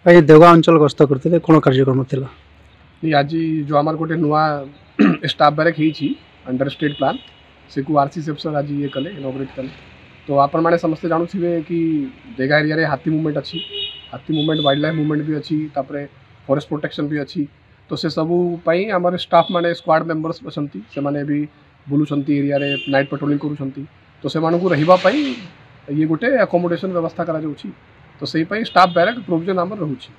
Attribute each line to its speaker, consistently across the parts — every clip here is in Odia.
Speaker 1: ଆଜି ଦେଓଗାଁ ଅଞ୍ଚଳ ଗସ୍ତ କରିଥିଲେ, କ'ଣ କାର୍ଯ୍ୟକ୍ରମ ଥିଲା?
Speaker 2: ଆଜି ଯେଉଁ ଆମର ଗୋଟେ ନୂଆ ଷ୍ଟାଫ୍ ବ୍ୟାରେକ୍ ହେଇଛି ଅଣ୍ଡର ଷ୍ଟେଟ୍ ପ୍ଲାନ୍, ସେକୁ ଆର୍ ସି ସାର୍ ଆଜି ଇଏ କଲେ, ଇନଅଗୁରେଟ୍ କଲେ। ତ ଆପଣମାନେ ସମସ୍ତେ ଜାଣୁଥିବେ କି ଦେଗା ଏରିଆରେ ହାତୀ ମୁଭମେଣ୍ଟ ଅଛି, ହାତୀ ମୁଭମେଣ୍ଟ, ୱାଇଲ୍ଡ ଲାଇଫ୍ ମୁଭମେଣ୍ଟ ବି ଅଛି, ତାପରେ ଫରେଷ୍ଟ ପ୍ରୋଟେକ୍ସନ୍ ବି ଅଛି। ତ ସେସବୁ ପାଇଁ ଆମର ଷ୍ଟାଫ୍ ମାନେ ସ୍କ୍ୱାଡ୍ ମେମ୍ବର୍ସ ଅଛନ୍ତି, ସେମାନେ ବି ବୁଲୁଛନ୍ତି ଏରିଆରେ, ନାଇଟ୍ ପେଟ୍ରୋଲିଂ କରୁଛନ୍ତି। ତ ସେମାନଙ୍କୁ ରହିବା ପାଇଁ ଇଏ ଗୋଟେ ଆକୋମୋଡେସନ୍ ବ୍ୟବସ୍ଥା କରାଯାଉଛି। ତ ସେଇ ପାଇଁ ଷ୍ଟାଫ୍ ବ୍ୟାରେକ୍ ପ୍ରୋଭିଜନ୍ ଆମର ରହୁଛି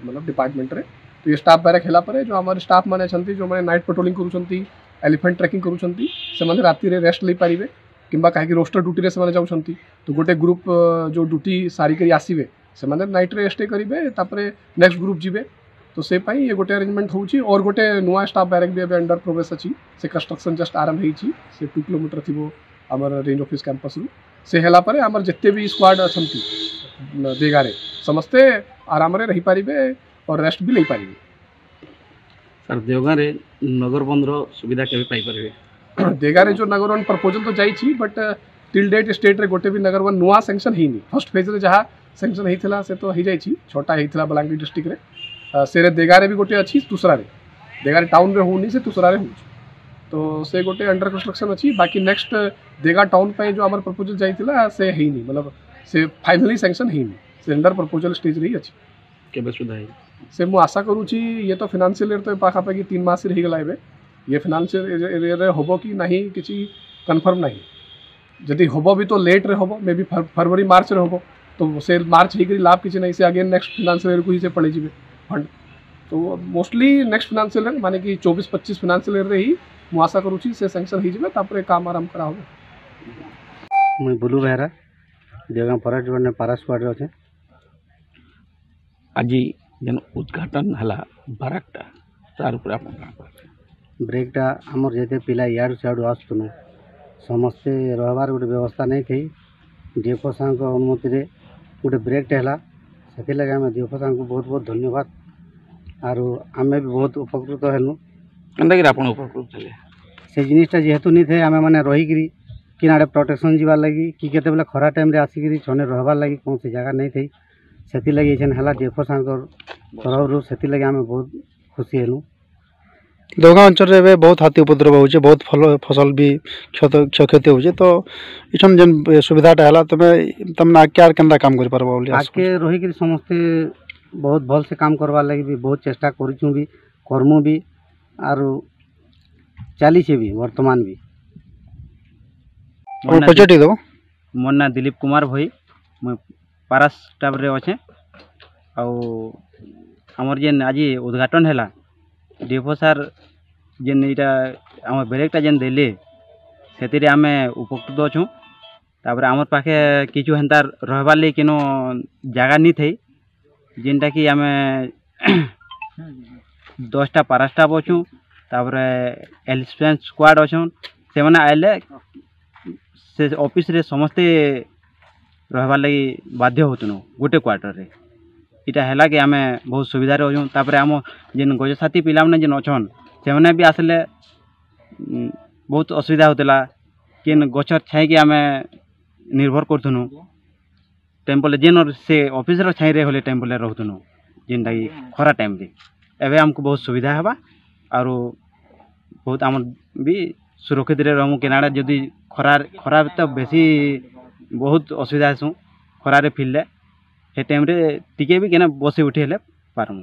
Speaker 2: ମତଲବ ଡିପାର୍ଟମେଣ୍ଟରେ। ତ ଏ ଷ୍ଟାଫ୍ ବ୍ୟାରେକ୍ ହେଲା ପରେ ଯେଉଁ ଆମର ଷ୍ଟାଫ୍ ମାନେ ଅଛନ୍ତି, ଯେଉଁମାନେ ନାଇଟ୍ ପେଟ୍ରୋଲିଂ କରୁଛନ୍ତି, ଏଲିଫେଣ୍ଟ ଟ୍ରେକିଂ କରୁଛନ୍ତି, ସେମାନେ ରାତିରେ ରେଷ୍ଟ ନେଇପାରିବେ। କିମ୍ବା କାହିଁକି ରୋଷ୍ଟର ଡ୍ୟୁଟିରେ ସେମାନେ ଯାଉଛନ୍ତି, ତ ଗୋଟେ ଗ୍ରୁପ୍ ଯେଉଁ ଡ୍ୟୁଟି ସାରିକରି ଆସିବେ, ସେମାନେ ନାଇଟ୍ରେ ଷ୍ଟେ କରିବେ, ତାପରେ ନେକ୍ସଟ ଗ୍ରୁପ୍ ଯିବେ। ତ ସେ ପାଇଁ ଇଏ ଗୋଟେ ଆରେଞ୍ଜମେଣ୍ଟ ହେଉଛି। ଅର୍ ଗୋଟେ ନୂଆ ଷ୍ଟାଫ୍ ବ୍ୟାରେକ୍ ବି ଏବେ ଅଣ୍ଡର ପ୍ରୋଗ୍ରେସ୍ ଅଛି, ସେ କନଷ୍ଟ୍ରକ୍ସନ୍ ଜଷ୍ଟ ଆରମ୍ଭ ହେଇଛି, ସେ 2 କିଲୋମିଟର ଥିବ ଆମର ରେଞ୍ଜ ଅଫିସ୍ କ୍ୟାମ୍ପସ୍ରୁ। ସେ ହେଲା ପରେ ଆମର ଯେତେ ବି ସ୍କ୍ୱାଡ୍ ଅଛନ୍ତି ଦେଗାରେ, ସମସ୍ତେ ଆରାମରେ ରହିପାରିବେ ଓ ରେଷ୍ଟ ବି ନେଇପାରିବେ।
Speaker 3: ସାର୍, ଦେଓଗାଁରେ ନଗରବନ୍ଧର ସୁବିଧା କେବେ ପାଇପାରିବେ?
Speaker 2: ଦେଗାରେ ଯେଉଁ ନଗରବନ ପ୍ରପୋଜାଲ୍ ତ ଯାଇଛି, ବଟ୍ ଟିଲ୍ ଡେଟ୍ ଷ୍ଟେଟ୍ରେ ଗୋଟେ ବି ନଗରବନ ନୂଆ ସାଙ୍କସନ୍ ହେଇନି। ଫର୍ଷ୍ଟ ଫେଜ୍ରେ ଯାହା ସାଙ୍କସନ୍ ହେଇଥିଲା ସେ ତ ହେଇଯାଇଛି, 6ଟା ହେଇଥିଲା ବଲାଙ୍ଗୀର ଡିଷ୍ଟ୍ରିକ୍ଟରେ। ସେରେ ଦେଗାରେ ବି ଗୋଟେ ଅଛି ତୁସରାରେ, ଦେଗାରେ ଟାଉନରେ ହେଉନି, ସେ ତୁସରାରେ ହେଉଛି। ତ ସେ ଗୋଟେ ଅଣ୍ଡର କନଷ୍ଟ୍ରକ୍ସନ୍ ଅଛି। ବାକି ନେକ୍ସଟ ଦେଗା ଟାଉନ୍ ପାଇଁ ଯେଉଁ ଆମର ପ୍ରପୋଜାଲ୍ ଯାଇଥିଲା ସେ ହେଇନି, ମତଲବ ସେ ଫାଇନାଲି ସାଙ୍କସନ୍ ହେଇନି, ସେ ଅଣ୍ଡର ପ୍ରପୋଜାଲ୍ ଷ୍ଟେଜ୍ରେ ହିଁ ଅଛି।
Speaker 3: କେବେ ସୁଦ୍ଧା ହେଇ
Speaker 2: ସେ ମୁଁ ଆଶା କରୁଛି, ଇଏ ତ ଫିନାନ୍ସିଆଲ ଇୟର୍ ତ ପାଖାପାଖି 3 ମାସରେ ହେଇଗଲା, ଏବେ ଇଏ ଫିନାନ୍ସିଆଲ ଇୟର୍ରେ ହେବ କି ନାହିଁ କିଛି କନଫର୍ମ ନାହିଁ। ଯଦି ହେବ ବି ତ ଲେଟ୍ରେ ହେବ, ମେ ବି ଫେବୃଆରୀ ମାର୍ଚ୍ଚରେ ହେବ। ତ ସେ ମାର୍ଚ୍ଚ ହେଇକରି ଲାଭ କିଛି ନାହିଁ, ସେ ଅଗେନ୍ ନେକ୍ସଟ ଫିନାନ୍ସିଆଲ ଇୟର୍କୁ ହିଁ ସେ ପଳେଇଯିବେ ଫଣ୍ଡ। ତ ମୋଷ୍ଟଲି ନେକ୍ସଟ ଫିନାନ୍ସିଆଲ ଇୟର୍, ମାନେ କି 24-25 ଫିନାନ୍ସିଆଲ ଇୟର୍ରେ ହିଁ ମୁଁ ଆଶା କରୁଛି ସେ ସାଙ୍କସନ୍ ହେଇଯିବେ, ତାପରେ କାମ ଆରମ୍ଭ କରାହେବ।
Speaker 4: ମୁଇଁ ବୁଲୁ ବେହେରା, ଦେଓଗାଁ ଫରେଷ୍ଟ ଡିପାର୍ଟମେଣ୍ଟ ପାରା ସ୍କ୍ୱାଡ଼ରେ ଅଛେ।
Speaker 3: ଆଜି ଯେନ୍ ଉଦ୍ଘାଟନ ହେଲା ବାରାକଟା, ତାର ଉପରେ ଆପଣ କାଣା କହିବେ?
Speaker 4: ବ୍ରେକ୍ଟା ଆମର ଯେତେ ପିଲା ଇଆଡ଼ୁ ସିଆଡ଼ୁ ଆସୁଥିଲୁ, ସମସ୍ତେ ରହିବାର ଗୋଟେ ବ୍ୟବସ୍ଥା ନେଇ ଥାଇ, ଡିଏଫଓ ସାର୍ଙ୍କ ଅନୁମତିରେ ଗୋଟେ ବ୍ରେକ୍ଟେ ହେଲା। ସେଥିଲାଗି ଆମେ ଡିଏଫଓ ସାର୍ଙ୍କୁ ବହୁତ ବହୁତ ଧନ୍ୟବାଦ, ଆରୁ ଆମେ ବି ବହୁତ ଉପକୃତ ହେଲୁ।
Speaker 3: କେନ୍ତାକିରି ଆପଣ ଉପକୃତ ହେଲେ?
Speaker 4: ସେ ଜିନିଷଟା ଯେହେତୁ ନେଇଥାଏ, ଆମେ ମାନେ ରହିକିରି କିନାଡ଼େ ପ୍ରୋଟେକ୍ସନ୍ ଯିବାର୍ ଲାଗି କି କେତେବେଲେ ଖରା ଟାଇମ୍ରେ ଆସିକିରି ଛନେ ରହିବାର୍ ଲାଗି କୌଣସି ଜାଗା ନେଇଥାଇ, ସେଥିଲାଗି ଏଇଛେନ୍ ହେଲା ଡିଏଫଓ ସାର୍ଙ୍କ ତରଫରୁ, ସେଥିଲାଗି ଆମେ ବହୁତ ଖୁସି ହେଲୁ।
Speaker 1: ଦେଓଗାଁ ଅଞ୍ଚଳରେ ଏବେ ବହୁତ ହାତୀ ଉପଦ୍ରବ ହେଉଛି, ବହୁତ ଫଲ ଫସଲ ବି କ୍ଷୟକ୍ଷତି ହେଉଛି। ତ ଇଛନ୍ ଯେନ୍ ସୁବିଧାଟା ହେଲା, ତମେ ତମେ ଆଗ୍କେ ଆର୍ କେନ୍ତା କାମ କରିପାରବ ବୋଲି ଆଶା?
Speaker 4: ଆଗ୍କେ ରହିକିରି ସମସ୍ତେ ବହୁତ ଭଲସେ କାମ କରବାର୍ ଲାଗି ବି ବହୁତ ଚେଷ୍ଟା କରିଛୁଁ ବି, କର୍ମୁ ବି, ଆରୁ ଚାଲିଛେ ବି ବର୍ତ୍ତମାନ ବି।
Speaker 1: ପରିଚୟ ଟିକେ ଦେବ।
Speaker 5: ମୋର୍ ନାଁ ଦିଲୀପ କୁମାର ଭୋଇ, ମୁଇଁ ପାରା ଷ୍ଟାଫ୍ରେ ଅଛେଁ। ଆଉ ଆମର୍ ଯେନ୍ ଆଜି ଉଦ୍ଘାଟନ୍ ହେଲା, ଡିଏଫଓ ସାର୍ ଯେନ୍ ଇଟା ଆମର୍ ବ୍ରେକ୍ଟା ଯେନ୍ ଦେଲେ, ସେଥିରେ ଆମେ ଉପକୃତ ଅଛୁଁ। ତାପରେ ଆମର୍ ପାଖେ କିଛି ହେନ୍ତା ରହେବାର୍ ଲାଗି କେନୁ ଜାଗା ନି ଥାଇ, ଯେନ୍ଟାକି ଆମେ 10ଟା ପାରା ଷ୍ଟାଫ୍ ଅଛୁଁ, ତାପରେ ଏଲିଫେଣ୍ଟ ସ୍କ୍ୱାଡ଼୍ ଅଛନ୍, ସେମାନେ ଆଇଲେ ସେ ଅଫିସ୍ରେ ସମସ୍ତେ ରହେବାର୍ ଲାଗି ବାଧ୍ୟ ହେଉଥିନୁ ଗୋଟେ କ୍ୱାର୍ଟର୍ରେ। ଇଟା ହେଲା କି ଆମେ ବହୁତ ସୁବିଧାରେ ଅଛୁଁ। ତାପରେ ଆମ ଯେନ୍ ଗଜସାଥୀ ପିଲାମାନେ ଯେନ୍ ଅଛନ୍, ସେମାନେ ବି ଆସିଲେ ବହୁତ ଅସୁବିଧା ହେଉଥିଲା, କେନ୍ ଗଛର୍ ଛାଇକି ଆମେ ନିର୍ଭର କରୁଥିନୁ, ଟେମ୍ପଲ୍ ଯେନ୍ ସେ ଅଫିସ୍ର ଛାଇରେ ହେଲେ ଟେମ୍ପଲ୍ରେ ରହୁଥିନୁ, ଯେନ୍ଟାକି ଖରା ଟାଇମ୍ରେ। ଏବେ ଆମକୁ ବହୁତ ସୁବିଧା ହେବା, ଆରୁ ବହୁତ ଆମର୍ ବି ସୁରକ୍ଷିତରେ ରହମୁ। କେନାଡ଼େ ଯଦି ଖରା, ଖରା ତ ବେଶୀ ବହୁତ ଅସୁବିଧା ହେସୁଁ ଖରାରେ ଫିରଲେ, ସେ ଟାଇମ୍ରେ ଟିକେ ବି କେନେ ବସି ଉଠି ହେଲେ ପାରମୁ।